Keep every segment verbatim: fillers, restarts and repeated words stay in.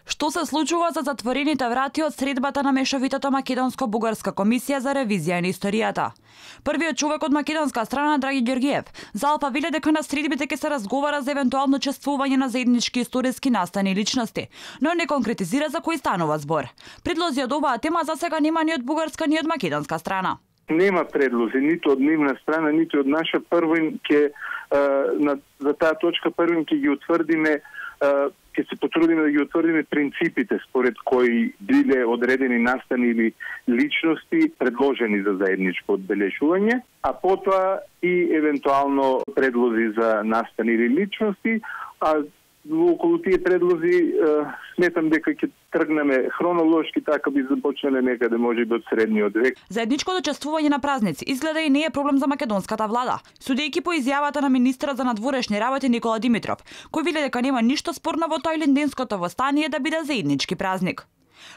Што се случува за затворените врати од средбата на мешовитата македонско-бугарска комисија за ревизија на историјата? Првиот човек од македонска страна, Драги Ѓорѓиев, за Алфа веле дека на средбите ќе се разговара за евентуално чествување на заеднички историски настани личности, но не конкретизира за кои станува збор. Предлози од оваа тема засега нема ни од бугарска ни од македонска страна. Нема предлози ниту од нивна страна, ниту од наша. Првин ќе на за таа точка првин ќе ги утврдиме, ќе се потрудиме да ги утврдиме принципите според кои биле одредени настани или личности предложени за заедничко одбележување, а потоа и евентуално предлози за настани или личности, а околу тие предлози сметам дека ќе тргнеме хронолошки, така би започнале некаде можеби од средниот век. Заедничкото чествување на празници изгледа и не е проблем за македонската влада, судејќи по изјавата на министерот за надворешни работи Никола Димитров, кој веле дека нема ништо спорно во Тојленденското востание да биде заеднички празник.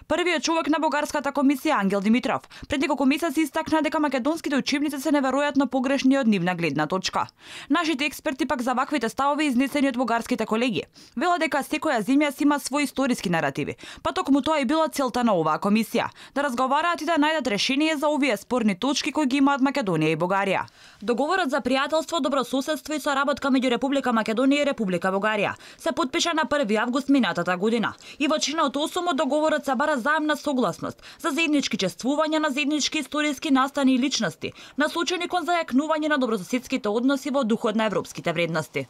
Првиот човек на бугарската комисија, Ангел Димитров, пред неколку месеци истакна дека македонските учебници се неверојатно погрешни од нивна гледна точка. Нашите експерти пак за ваквите ставови изнесени од бугарските колеги велат дека секоја земја си има свои историски наративи, па токму тоа и била целта на оваа комисија, да разговараат и да најдат решение за овие спорни точки кои ги имаат Македонија и Бугарија. Договорот за пријателство, добрососедство и соработка меѓу Република Македонија и Република Бугарија се потпиша на први август минатата година и во чинот осум од договорот се бара заемна согласност за заеднички чествувања на заеднички историски настани и личности, насочени кон зајакнување на добрососедските односи во духот на европските вредности.